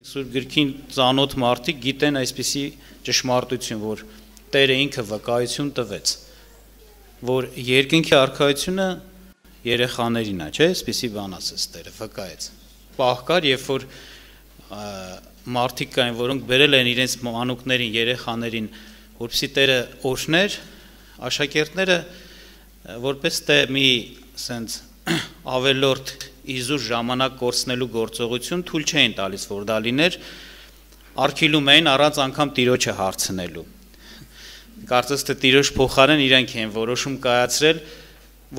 Սուրբ գրքին ծանոթ մարդիկ գիտեն այսպիսի ճշմարտություն, որ Տերը ինքը վկայություն տվեց, որ երկնքի արքայությունը երեխաներին է, չէ՞, այսպիսի բան ասեց Տերը, վկայեց։ Պահ կար, երբ որ մարդիկ կային, որոնք բերել են իրենց մանուկներին, երեխաներին, որպեսզի Տերը օրհներ, աշակերտները որպես թե մի սենց ավելորդ իզուր ժամանակ կորցնելու գործողություն թույլ չէին տալիս, որ դա լիներ, արգելում էին առանց անգամ Տիրոջը հարցնելու։ Կարծես թե Տիրոջ փոխարեն իրենք են որոշում կայացրել,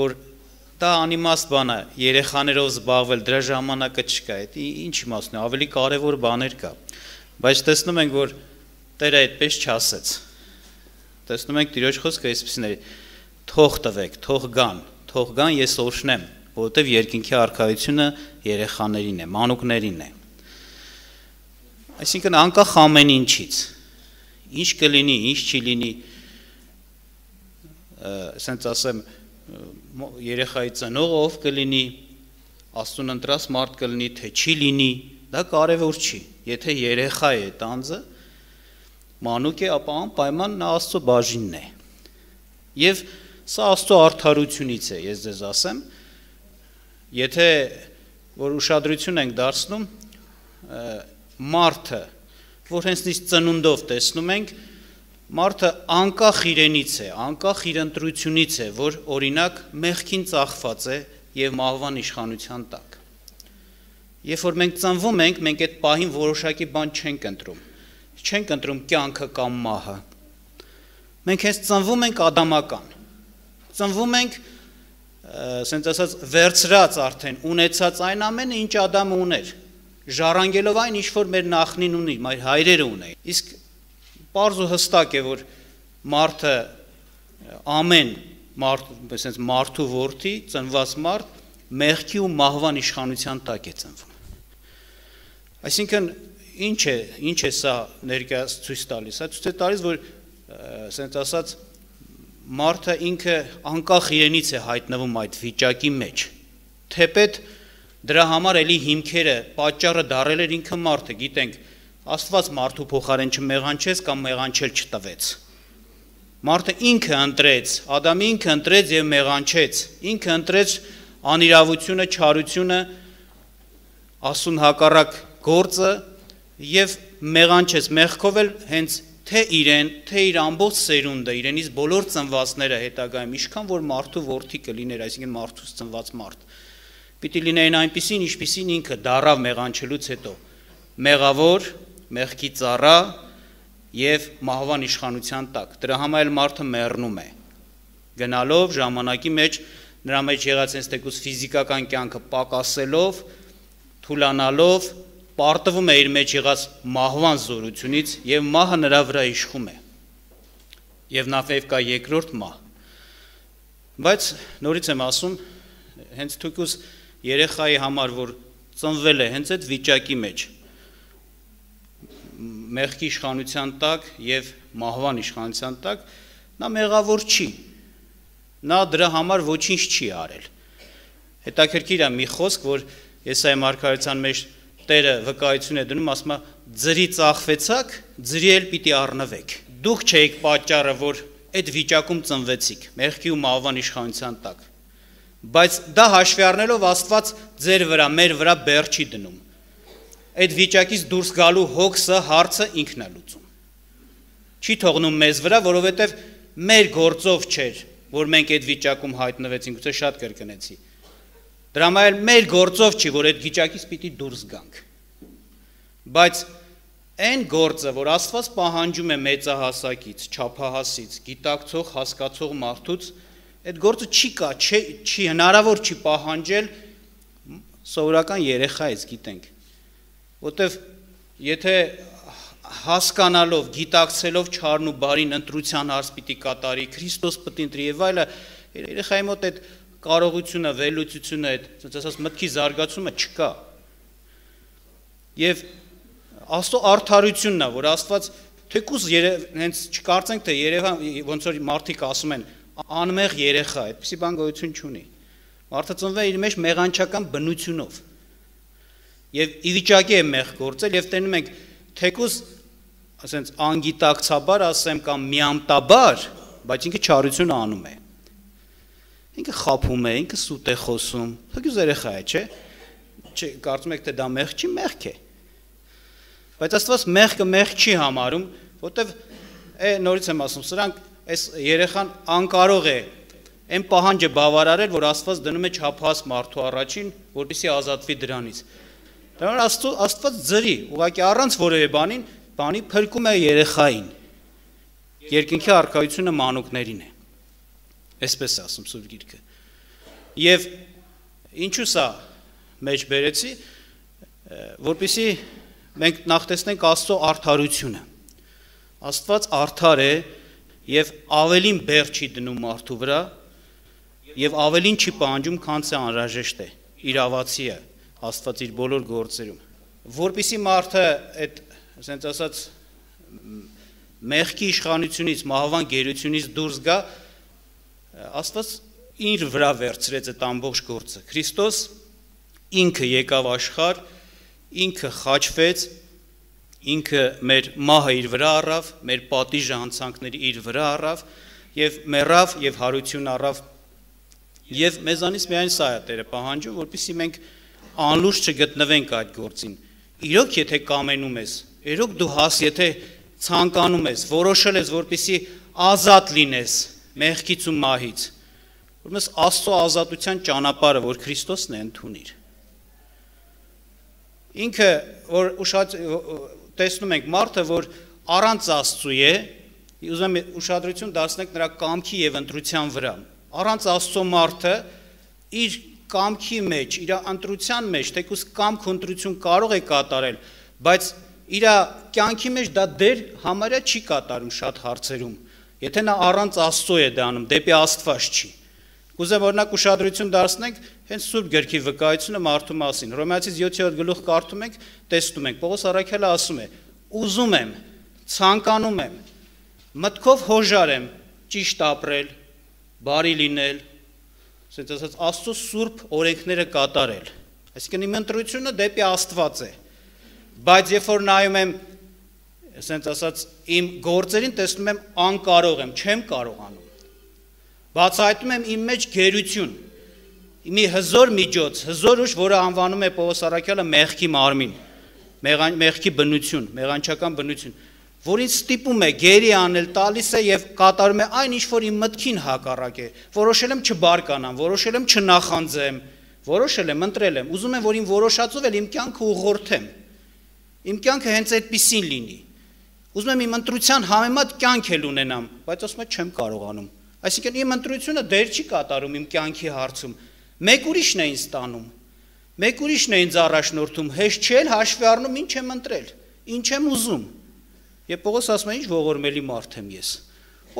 որ դա անիմաստ բան է, երեխաներով զբաղվել, դրա ժամանակը չկա, ինչ իմաստ ունի, ավելի կարևոր բաներ կա։ Բայց տեսնում ենք, որ Տերը այդպես չասեց։ Տեսնում ենք Տիրոջ խոսքը այսպիսին է. թող տվեք, թող գան, ես օրհնեմ, որովհետև երկնքի արքայությունը երեխաներին է, մանուկներին է։ Այսինքն անկախ ամեն ինչից, ինչ կլինի, ինչ չի լինի, ասենց ասեմ, երեխայի ծնողը ով կլինի, Աստծուն ընտրած մարդ կլինի, թե չի լինի, դա կարևոր չի։ Եթե երեխա է տանձը, մանուկ է, ապա անպայման նա Աստծո բաժինն է։ Եվ սա Աստծո արդարությունից է, ես ձեզ ասեմ, եթե որ ուշադրություն ենք դարձնում, մարդը, որ հենց նույն ծնունդով տեսնում ենք, մարդը անկախ իրենից է, անկախ իր ընտրությունից է, որ օրինակ մեղքին ծախված է եւ մահվան իշխանության տակ։ Երբ որ մենք ծնվում ենք, մենք այդ պահին որոշակի բան չենք ընտրում։ Չենք ընտրում կյանքը կամ մահը։ Մենք հենց ծնվում ենք ադամական։ Ծնվում ենք, ասենց ասած, վերցրած արդեն, ունեցած այն ամենը, ինչ Ադամը ուներ, ժառանգելով այն, ինչ որ մեր նախնին ունի, մեր հայրերը ունեին։ Իսկ պարզ ու հստակ է, որ մարդը ամեն մարդու որդի, ծնված մարդ, մեղքի ու մահվան իշխանության տակ է ծնվում։ Այսինքն, ինչ է սա ներկայաց ցույց տալիս, ցույց է տալիս, որ ասենց ասած մարդը ինքը անկախ իրենից է հայտնվում այդ վիճակի մեջ, թեպետ դրա համար էլի հիմքերը, պատճառը դարել էր ինքը մարդը, գիտենք, Աստված մարդու փոխարեն չմեղանչեց կամ մեղանչել չտվեց։ Մարդը ինքը ընտրեց, Ադամը ինքը ընտրեց եւ մեղանչեց, ինքը ընտրեց անիրավությունը, չարությունը, Աստծուն հակառակ գործը եւ մեղանչեց, մեղքով էլ հենց թե իրեն, թե իր ամբողջ սերունդը, իրենից բոլոր ծնվածները հետագայում, ինչքան որ մարդու որդի կլիներ, այսինքն մարդուց ծնված մարդ, պիտի լինեին այնպիսին, ինչպիսին ինքը դառավ մեղանչելուց հետո, մեղավոր, մեղքի ծառա եւ մահվան իշխանության տակ։ Դրա համար էլ մարդը մեռնում է։ Գնալով ժամանակի մեջ նրա մեջ եղած այնպես թեկուզ ֆիզիկական կյանքը պակասելով, թուլանալով պարտվում է իր մեջ եղած մահվան զորությունից եւ մահը նրա վրա իշխում է։ Եվ նաեւ կա երկրորդ մահ։ Բայց նորից եմ ասում, հենց թույքուս երեխայի համար, որ ծնվել է հենց այդ վիճակի մեջ, մեղքի իշխանության տակ եւ մահվան իշխանության տակ, նա մեղավոր չի։ Նա դրա համար ոչինչ չի արել։ Հետաքրքիր է մի խոսք, որ Եսայի մարգարեության մեջ Տերը վկայություն է դնում, ասում է, ձրի ծախվեցաք, ձրի էլ պիտի առնվեք։ Դուք չէիք պատճառը, որ այդ վիճակում ծնվեցիք, մեղքի ու մահվան իշխանության տակ։ Բայց դա հաշվի առնելով Աստված ձեր վրա, մեր վրա բեռ չի դնում։ Այդ վիճակից դուրս գալու հոգսը, հարցը ինքն է լուծում։ Չի թողնում մեզ վրա, որովհետև մեր գործով չէր, որ մենք այդ վիճակում հայտնվեցինք, ուղղակի շատ կրկնեցի։ Դրա համար մեր գործով չի, որ այդ վիճակից պիտի դուրս գանք։ Բայց այն գործը, որ Աստված պահանջում է մեծահասակից, չափահասից, գիտակցող, հասկացող մարդուց, այդ գործը չի հնարավոր չի պահանջել սովորական երեխայից, գիտենք։ Որտեվ եթե հասկանալով, գիտակցելով չարն ու բարին ընտրության հարց պիտի կատարի, Քրիստոս պիտի ընտրի եւ այլը, երեխայի մոտ այդ կարողությունը, վերլուծությունը, այդ ասած մտքի զարգացումը չկա։ Եվ Աստծո արդարությունն է, որ Աստված թեկուզ հենց չկարծենք, թե երևան ոնց որ մարդիկ ասում են, անմեղ երեխա, այդպիսի բան գոյություն չունի։ Մարդը ծնվել իր մեջ մեղանչական բնությունով։ եւ ի վիճակի է մեղ գործել եւ տենում ենք թեկուզ ասենց անգիտակցաբար ասեմ կամ միամտաբար, բայց ինքը չարություն անում է։ Ինքը խափում է, ինքը սուտ է խոսում, թեկուզ երեխա է, չէ՞։ Չէ, կարծում եք թե դա մեղ չի, մեղք է։ Բայց Աստված մեղքը մեղք չի համարում, որտեվ նորից եմ ասում, սրանք այս երեխան անկարող է այն պահանջը բավարարել, որ Աստված դնում է չափահաս մարդու առաջին, որպեսզի ազատվի դրանից։ Դրանով Աստված ձրի, ուղղակի առանց որևէ բանի փրկում է երեխային։ Երկնքի առկայությունը մանուկներին է։ Այսպես է ասում Սուրբ Գիրքը։ Եվ ինչու սա մեջ բերեցի, որպեսզի մենք նախ տեսնենք Աստծո արդարությունը։ Աստված արդար է եւ ավելին բեռ չի դնում մարդու վրա եւ ավելին չի պահանջում, քան це անհրաժեշտ է։ Իրավացի է Աստված իր բոլոր գործերում։ Որպեսզի մարդը այդ, ասենց ասած, մեղքի իշխանությունից, մահվան գերությունից դուրս գա, Աստված իր վրա վերցրեց այդ ամբողջ գործը։ Քրիստոս ինքը եկավ աշխարհ, ինքը խաչվեց, ինքը մեր մահը իր վրա առավ, մեր պատիժը հանցանքների իր վրա առավ եւ մեռավ եւ հարություն առավ։ Եվ մեզանից միայն սա է Տերը պահանջում, որպեսզի մենք անլուրջ չգտնվենք այդ գործին։ Իրոք եթե կամենում ես, իրոք դու եթե ցանկանում ես, որոշել ես, որպեսզի ազատ լինես մեղքից ու մահից, ուրեմն Աստծո ազատության ճանապարհը, որ Քրիստոսն է, ընդունիր։ Ինքը, որ տեսնում ենք մարդը, որ առանց Աստծու է, ուզում եմ ուշադրություն դարձնենք նրա կամքի եւ ընտրության վրա։ Առանց Աստծո մարդը իր կամքի մեջ, իր ընտրության մեջ, թեկուզ կամք ու ընտրություն կարող է կատարել, բայց իր կյանքի մեջ դա դեր համարյա չի կատարում շատ հարցերում։ Եթե նա առանց Աստծո է դա անում, դեպի Աստված չի։ Կուզեմ օրինակ ուշադրություն դարձնենք հենց Սուրբ Գրքի վկայությունը մարդու մասին։ Հռոմեացիս 7-րդ գլուխ կարդում ենք, տեսնում ենք, Պողոս առաքյալը ասում է. ուզում եմ, ցանկանում եմ, մտքով հոժար եմ ճիշտ ապրել, բարի լինել, ասենց ասած Աստծո սուրբ օրենքները կատարել։ Այսինքն իմ ընտրությունը դեպի Աստված է։ Բայց երբ որ նայում եմ, ասենց ասած իմ գործերին, տեսնում եմ անկարող եմ, չեմ կարողանում։ Բացահայտում եմ իմ մեջ գերություն, մի հզոր միջոց, հզոր ուժ, որը անվանում է Պողոս առաքյալը մեղքի մարմին, մեղքի բնություն, մեղանչական բնություն, որին ստիպում է գերի անել, տալիս է եւ կատարում է այն, ինչ որ իմ մտքին հակառակ է։ Որոշել եմ չբարկանամ, որոշել եմ չնախանձեմ, որոշել եմ, ընտրել եմ, ուզում եմ, որ իմ որոշածով էլ իմ կյանքը ուղղորդեմ։ Իմ կյանքը հենց այդպեսին լինի։ Ուզում եմ իմ ընտրության համեմատ կյանք էլ ունենամ, բայց ասում եմ չեմ կարողանում։ Այսինքն իմ ընտրությունը դեր չի կատարում իմ կյանքի հարցում։ Մեկ ուրիշն է ինձ տանում։ Մեկ ուրիշն է ինձ առաջնորդում, հեշտ չէ հաշվի առնում ինչ եմ ընտրել, ինչ եմ ուզում։ Եվ Պողոս ասում է, ինչ ողորմելի մարդ եմ ես։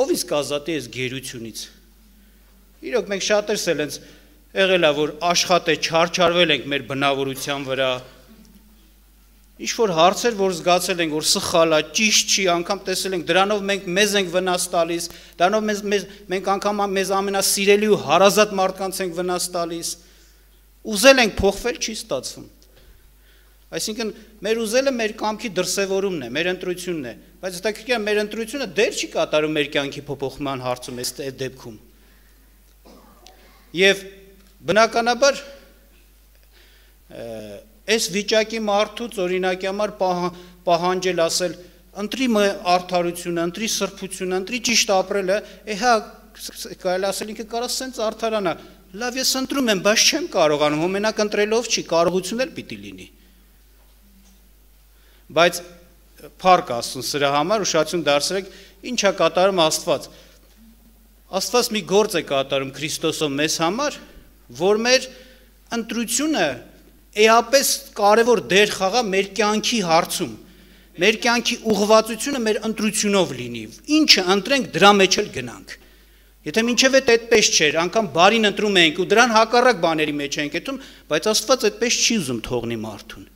Ով ինձ կազատի այս գերությունից։ Իրոք մենք շատերս էլ ենք եղել է, որ աշխատե չարչարվել ենք մեր բնավորության վրա։ Ինչ որ հարցեր, որ զգացել ենք, որ սխալ է, ճիշտ չի, անգամ տեսել ենք, դրանով մենք մեզ ենք վնաս տալիս, դրանով մենք անգամ մեզ ամենասիրելի ու հարազատ մարդկանց ենք վնաս տալիս։ Ուզել ենք փոխվել, չի ստացվում։ Այսինքն մեր ուզելը մեր կամքի դրսևորումն է, մեր ընտրությունն է, բայց հետաքրքիր է մեր ընտրությունը դեր չի կատարում մեր կյանքի փոփոխման հարցում այս դեպքում։ Եվ բնականաբար այս վիճակի մարդուց օրինակի համար պահանջել ասել ընտրի արդարությունը, ընտրի սրբությունը, ընտրի ճիշտ ապրելը, հա կարելի ասել ինքը կարա սենց արդարանա, լավ ես ընտրում եմ, բայց չեմ կարողանում, մենակ ընտրելով չի, կարողություն էլ պիտի լինի։ Բայց փառք Աստծուն սրա համար ուշադրություն դարձրեք, ինչ է կատարում Աստված։ Աստված մի գործ է կատարում Քրիստոսով մեզ համար, որ մեր ընտրությունը էապես կարևոր դեր խաղա մեր կյանքի հարցում, մեր կյանքի ուղղվածությունը մեր ընտրությունով լինի, ինչը ընտրենք դրա մեջ էլ գնանք։ Եթե մինչև այդպես չէր, անգամ բարին ընտրում ենք ու դրան հակառակ բաների մեջ ենք եթում, բայց Աստված այդպես չի ուզում թողնի մարդուն։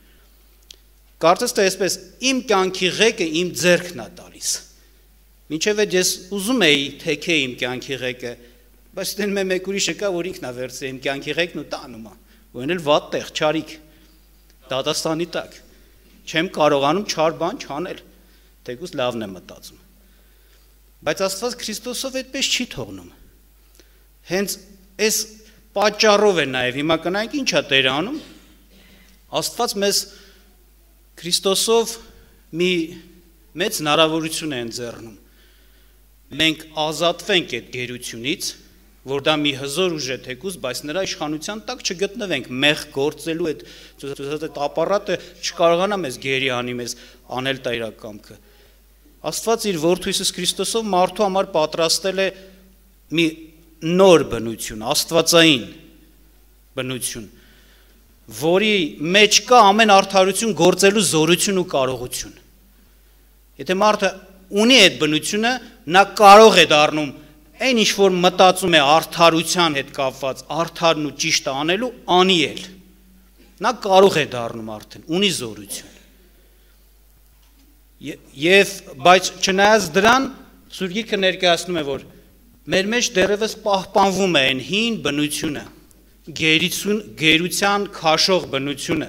Կարծես թե այսպես իմ կյանքի ղեկը իմ ձեռքն է տալիս։ Մինչև այդ ես ուզում էի թեքե իմ կյանքի ղեկը, բայց դնում է մեկ ուրիշը կա, որ ինքն է վերցրել իմ կյանքի ղեկն ու տանում է, ու այն էլ վատ տեղ, չարիք։ դատաստանի տակ, չեմ կարողանում չար բան չանել, թեկուզ լավն եմ մտածում, բայց Աստված Քրիստոսով այդպես չի թողնում, հենց այս պատճառով է նաև, հիմա կնայենք ինչ է Տերը անում, Աստված մեզ Քրիստոսով մի մեծ հնարավորություն է ընձեռնում, մենք ազատվենք այդ գերությունից, որ դա մի հզոր ուժ է թեկուզ, բայց նրա իշխանության տակ չգտնվենք, մեղ գործելու այդ ապարատը չկարողանա մեզ գերի անի, մեզ անել տա իր կամքը։ Աստված իր Որդու Հիսուս Քրիստոսով մարդու համար պատրաստել է մի նոր բնություն, աստվածային բնություն, որի մեջ կա ամեն արդարություն գործելու զորություն ու կարողություն։ Եթե մարդը ունի այդ բնությունը, նա կարող է դառնում այն ինչ որ մտածում է արդարության հետ կապված, արդարն ու ճիշտը անելու, անի էլ։ Նա կարող է դառնում արդեն, ունի զորություն։ Եվ բայց չնայած դրան, Սուրբ Գիրքը ներկայացնում է, որ մեր մեջ դեռևս պահպանվում է այն հին բնությունը, գերության քաշող բնությունը,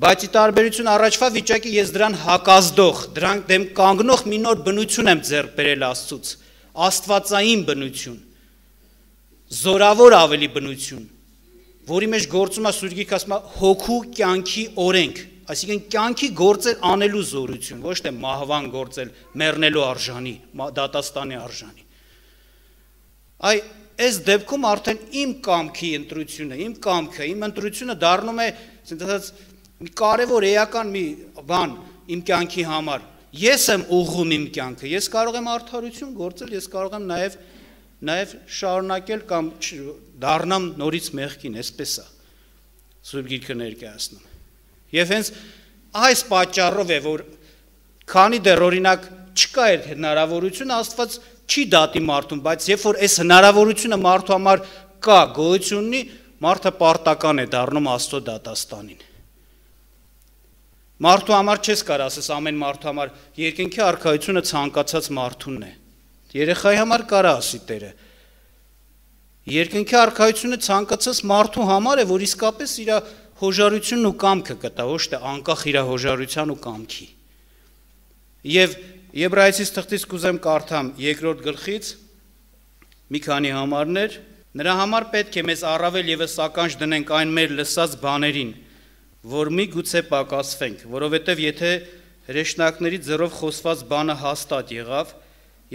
բայց ի տարբերություն առաջվա վիճակի ես դրան հակազդող, դրան դեմ կանգնող մի նոր բնություն եմ ձեռք բերել Աստծուց, աստվածային բնություն, զորավոր ավելի բնություն, որի մեջ գործում է Սուրբ Գիրքը ասում է հոգու կյանքի օրենք, այսինքն կյանքի գործել անելու զորություն, ոչ թե մահվան գործել, մեռնելու արժանի, դատաստանի արժանի։ Այս դեպքում արդեն իմ կամքի ընտրությունը, իմ կամքը, իմ ընտրությունը դառնում է, ասած մի կարևոր էական մի բան իմ կյանքի համար։ Ես եմ ուղղում իմ կյանքը, ես կարող եմ արդարություն գործել, ես կարող եմ նաև շարունակել կամ դառնամ նորից մեղքին, այսպես է Սուրբ Գիրքը ներկայացնում։ Եվ հենց այս պատճառով է, որ քանի դեռ օրինակ չկա այդ հնարավորությունը, Աստված չի դատի մարդուն, բայց երբ որ այս հնարավորությունը մարդու համար կա, գոյություն ունի, մարդը պարտական է դառնում Աստծո դատաստանին։ Մարդու համար չես կարող ասես ամեն մարդու համար երկնքի արքայությունը ցանկացած մարդունն է։ Երեխայի համար կարա ասի Տերը։ Երկնքի արքայությունը ցանկացած մարդու համար է, որ իսկապես իր հոժարությունն ու կամքը կտա, ոչ թե անկախ իր հոժարության ու կամքի։ Եվ Եբրայեցիս թղթից կուզեմ կարդամ 2-րդ գլխից մի քանի համարներ, նրա համար պետք է մեզ առավել ևս ականջ դնենք այն մեր լսած բաներին, որ մի գուցե պակասվենք, որովհետև եթե հրեշտակների ձեռով խոսված բանը հաստատ եղավ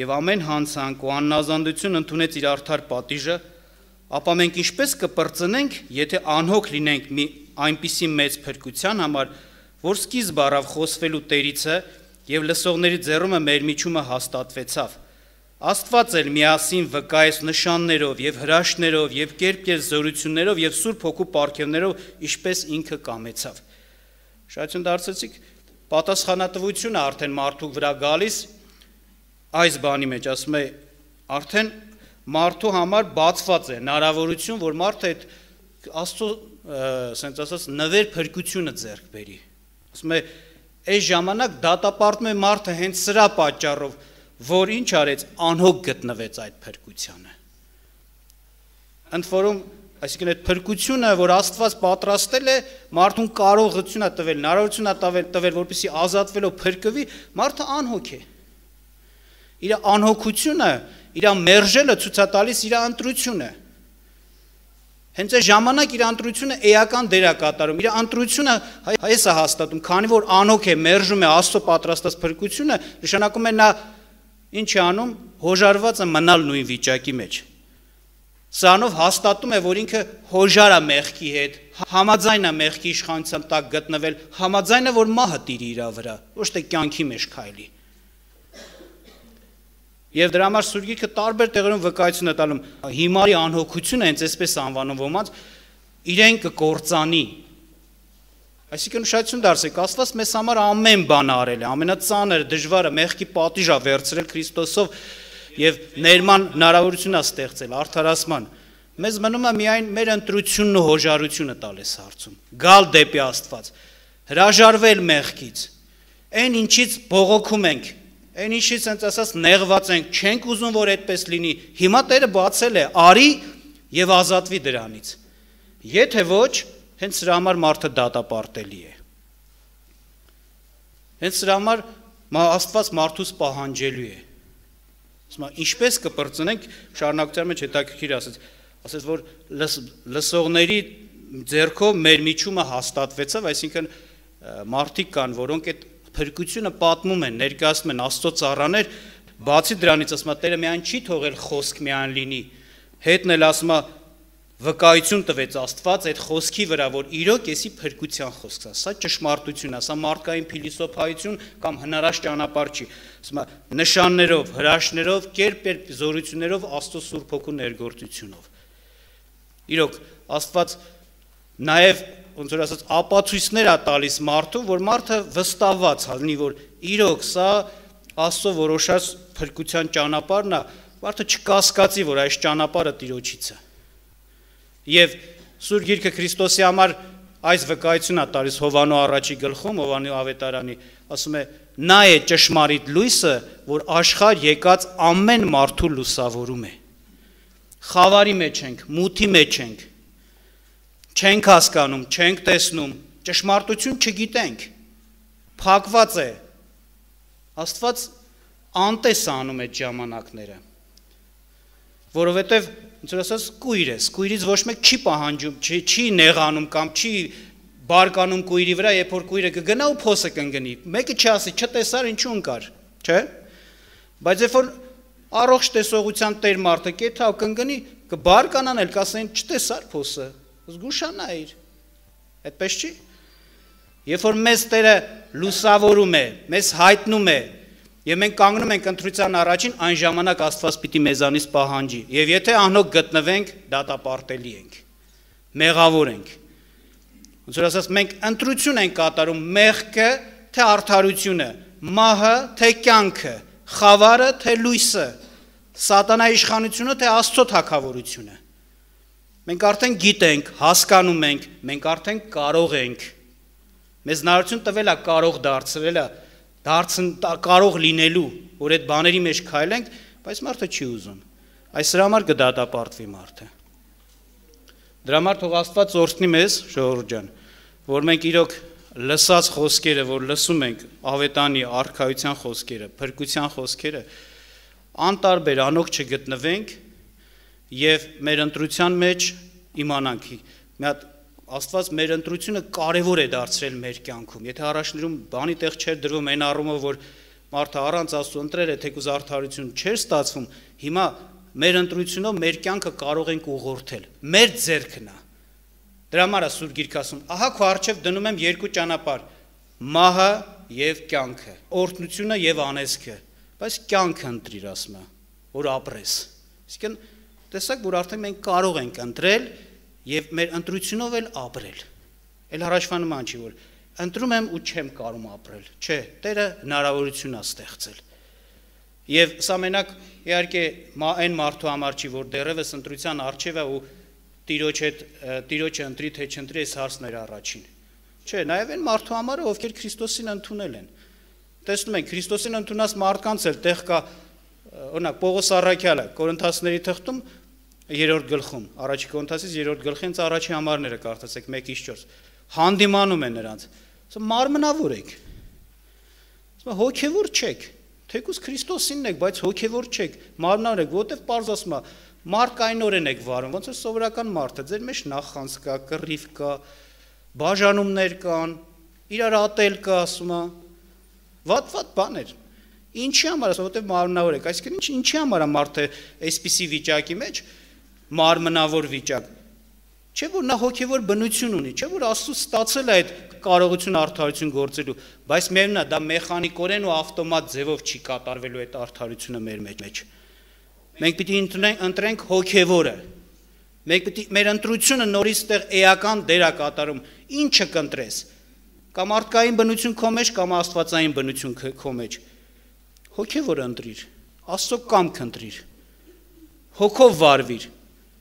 եւ ամեն հանցանք ու աննազանդություն ընդունեց իր արդար պատիժը, ապա մենք ինչպես կպրծնենք, եթե անհոգ լինենք մի այնպիսի մեծ փրկության համար, որ սկիզբ առավ խոսվելու Տերիցը եւ լսողների ձեռումը մեր միջումը հաստատվեցավ։ Աստված էլ միասին վկայեց նշաններով եւ հրաշքներով եւ կերպ զորություններով եւ Սուրբ Հոգու պարգևներով, ինչպես ինքը կամեցավ։ Շատություն դարձեցիք, պատասխանատվությունը արդեն մարդու վրա գալիս այս բանի մեջ, ասում է, արդեն մարդու համար բացված է հնարավորություն, որ մարդը այդ Աստծո, ասենց ասած, նվեր փրկությունը ձեռք բերի։ Ասում է, այս ժամանակ դատապարտում է մարդը հենց սրա պատճառով, որ ինչ արեց, անհոգ գտնվեց այդ փրկությանը։ Ընդ որում, այսինքն այդ փրկությունը, որ Աստված պատրաստել է, մարդուն կարողություն է տվել, հնարավորություն է տվել, որպեսզի ազատվելով փրկվի, մարդը անհոգ է։ Իր անհոգությունը, իր մերժելը ցույց է տալիս իր ընտրությունը։ Հենց այս ժամանակ իր ընտրությունը էական դեր է կատարում, իր ընտրությունը այս է հաստատում, քանի որ անհոգ է, մերժում է Աստծո պատրաստած փրկությունը, նշանակում է նա ինչ է անում, հոժարված է մնալ նույն վիճակի մեջ։ Սրանով հաստատում է, որ ինքը հոժար է մեղքի հետ, համաձայն է մեղքի իշխանության տակ գտնվել, համաձայն է, որ մահը տիրի իր վրա, ոչ թե կյանքի մեջ քայլի։ Եվ դրա համար Սուրբ Գիրքը տարբեր տեղերում վկայություն է տալում, հիմարի անհոգությունը հենց այսպես անվանում ոմանց, իրեն կկործանի։ Այսինքն ուշադրություն դարձեք, Աստված մեզ համար ամեն բան արել է, ամենածանր, դժվարը, մեղքի պատիժ է վերցրել Քրիստոսով եւ ներման հնարավորություն է ստեղծել արդարացման։ Մեզ մնում է միայն մեր ընտրությունն ու հոժարությունը տալ այս հարցում, գալ դեպի Աստված, հրաժարվել մեղքից, այն ինչից բողոքում ենք, այն ինչից հենց ասած նեղված ենք, չենք ուզում, որ այդպես լինի, հիմա Տերը բացել է, արի եւ ազատվի դրանից։ Եթե ոչ, Հենց սրա համար մարդը դատապարտելի է։ Հենց սրա համար Աստված մարդուց պահանջելու է։ Ինչպես կպրծնենք, շարունակության մեջ հետաքրքիր ասեց, որ լսողների ձեռքով մեր միջումը հաստատվեցավ, այսինքն մարդիկ կան, որոնք այդ փրկությունը պատմում են, ներկայացնում են Աստծո ծառաներ, բացի դրանից ասում է Տերը միայն չի թողել խոսք միայն լինի, հետն էլ ասում է վկայություն տվեց Աստված այդ խոսքի վրա, որ իրոք էսի փրկության խոսքն է, սա ճշմարտություն է, սա մարդկային փիլիսոփայություն կամ հնարաշ ճանապարհ չի, ասում է նշաններով, հրաշքներով, կերպ զորություններով Աստծո Սուրբ Հոգու ներգործությունով։ Իրոք Աստված նաև ոնց որ ասած ապացույցներ է տալիս մարդու, որ մարդը վստահված լինի, որ իրոք սա Աստծո որոշած փրկության ճանապարհն է, մարդը չկասկածի, որ այս ճանապարհը Տիրոջից է։ Եվ Սուրբ Գիրքը Քրիստոսի համար այս վկայությունն է տալիս Հովանո առաջի գլխում, Հովանո ավետարանի, ասում է. նա է ճշմարիտ լույսը, որ աշխարհ եկած ամեն մարդու լուսավորում է։ Խավարի մեջ ենք, մութի մեջ ենք, չենք հասկանում, չենք տեսնում, ճշմարտություն չգիտենք, փակված է։ Աստված անտես անում այդ ժամանակները, որովհետև ոնց որ ասած կույր է, կույրից ոչ մեկ չի պահանջում, չի նեղանում կամ չի բարկանում կույրի վրա, երբ որ կույրը կգնա ու փոսը կընկնի, մեկը չասի, չտեսար ինչու ընկար, չէ՞։ Բայց երբ որ առողջ տեսողության տեր մարդը կեթա ու կընկնի, կբարկանան էլ կասեն չտեսար փոսը, զգուշանայր, այդպես չի։ Երբ որ մեզ Տերը լուսավորում է, մեզ հայտնում է, եւ մենք կանգնում ենք ընտրության առաջին, այն ժամանակ Աստված պիտի մեզանից պահանջի, եւ եթե անհոգ գտնվենք, դատապարտելի ենք, մեղավոր ենք։ Ոնց որ ասած, մենք ընտրություն ենք կատարում մեղքը, թե արդարությունը, մահը, թե կյանքը, խավարը, թե լույսը, սատանայի իշխանությունը, թե Աստծո թագավորությունը։ Մենք արդեն գիտենք, հասկանում ենք, մենք արդեն կարող ենք։ Մեզ հնարավորություն տվել է կարող դարձրել է, կարող լինելու, որ այդ բաների մեջ քայլենք, բայց մարդը չի ուզում։ Այս դրա համար կդատապարտվի մարդը։ Դրա համար թող Աստված օրհնի մեզ, ժողովուրդ ջան, որ մենք իրոք լսած խոսքերը, որ լսում ենք ավետանի արքայության խոսքերը, փրկության խոսքերը, անտարբեր անոք չգտնվենք եւ մեր ընտրության մեջ իմանանք։ Մի հատ Աստված մեր ընտրությունը կարևոր է դարձրել մեր կյանքում։ Եթե առաջներում բանի տեղ չէր դրվում այն առումով, որ մարդը առանց Աստծո ընտրել է, թեկուզ արդարություն չէր ստացվում, հիմա մեր ընտրությունով մեր կյանքը կարող ենք ուղղորդել։ Մեր ձեռքն է։ Դրա համար է Սուրբ Գիրքը ասում. ահա քո առջև դնում եմ երկու ճանապարհ՝ մահը եւ կյանքը, օրհնությունը եւ անեծքը, բայց կյանքը ընտրիր, ասում է, որ ապրես։ Իսկն տեսակ, որ արդեն մենք կարող ենք ընտրել եւ մեր ընտրությունով էլ ապրել։ Էլ առաջվա նման չի, որ ընտրում եմ ու չեմ կարող ապրել։ Չէ, Տերը հնարավորություն է ստեղծել։ Եվ սա մենակ իհարկե այն մարդու համար չի, որ դեռևս ընտրության առջև է ու Տիրոջը ընտրի թե չընտրի, այս հարցն էր առաջին։ Չէ, նաեւ այն մարդու համար, ովքեր Քրիստոսին ընդունել են։ Տեսնում ենք, Քրիստոսին ընդունած մարդկանց էլ տեղ կա, օրինակ Պողոս Առաքյալը Կորինթացիների թղթում 3-րդ գլխում, առաջի Կորինթացիս 3-րդ գլխից առաջի համարները կարդացեք 1-4, հանդիմանում է նրանց, ասում մարմնավոր եք, ասում հոգևոր չեք, թեկուզ Քրիստոսինն եք, բայց հոգևոր չեք, մարմնավոր եք, որտեվ պարզ ասում է, մարդկայնորեն եք վարում, ոնց որ սովորական մարդը, ձեր մեջ նախանց կա, կռիվ կա, բաժանումներ կան, իրար ատել կա, ասում է, վատ բաներ։ Ինչի համար ասում, որտեվ մարմնավոր եք, այսինքն ինչի համար է մարդը այսպիսի վիճակի մեջ մարմնավոր վիճակ, չէ որ նա հոգևոր բնություն ունի, չէ որ Աստծուց ստացել է այդ կարողություն արդարություն գործելու, բայց միևնույնն է, դա մեխանիկորեն ու ավտոմատ ձևով չի կատարվելու այդ արդարությունը մեր մեջ։ Մենք պիտի ընտրենք հոգևորը, մենք պիտի մեր ընտրությունը նորից տեղ էական դեր է կատարում, ինչը կընտրես, կամ մարդկային բնություն քո մեջ, կամ աստվածային բնություն քո մեջ, հոգևորը ընտրիր, Աստծո կամք ընտրիր, հոգով վարվիր։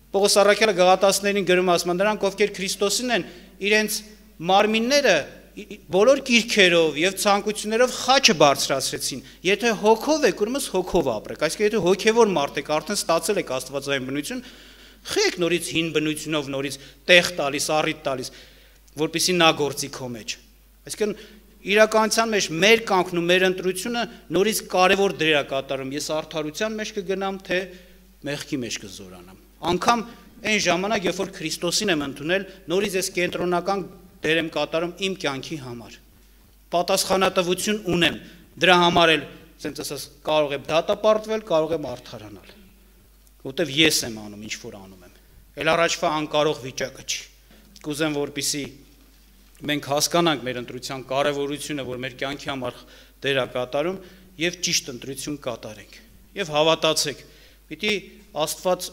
Պողոս Առաքյալը Գաղատացիներին գրում ասում, նրանք ովքեր Քրիստոսին են, իրենց մարմինները բոլոր կիրքերով եւ ցանկություններով խաչը բարձրացրեցին։ Եթե հոգով եք, ուրեմն հոգով ապրեք։ Այսինքն եթե հոգևոր մարդ եք, արդեն ստացել եք աստվածային բնություն, խեք նորից հին բնությունով նորից տեղ տալիս, առիթ տալիս։ որպեսզի նա գործի քո մեջ։ Այսինքն իրականության մեջ մեր կյանքն ու մեր ընտրությունը նորից կարևոր դեր է կատարում։ Ես արդարության մեջ կգնամ, թե մեղքի մեջ կզորանամ։ Անկամ այն ժամանակ, երբ որ Քրիստոսին եմ ընդունել, նորից ես կենտրոնական դեր եմ կատարում իմ կյանքի համար։ Պատասխանատվություն ունեմ, դրա համար էլ, ասենց ասած, կարող եմ դատապարտվել, կարող եմ արդարանալ, որտեվ ես եմ անում, ինչ որ անում եմ։ Էլ առաջվա անկարող վիճակը չի։ Կուզեմ, որպեսզի մենք հասկանանք մեր ընտրության կարևորությունը, որ մեր կյանքի համար դեր է կատարում, եւ ճիշտ ընտրություն կատարենք։ Եվ հավատացեք, պիտի Աստված,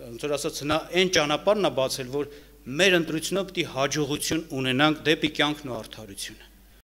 ոնց որ ասած, նա այն ճանապարհն է բացել, որ մեր ընտրությունով պիտի հաջողություն ունենանք դեպի կյանքն ու արդարությունը։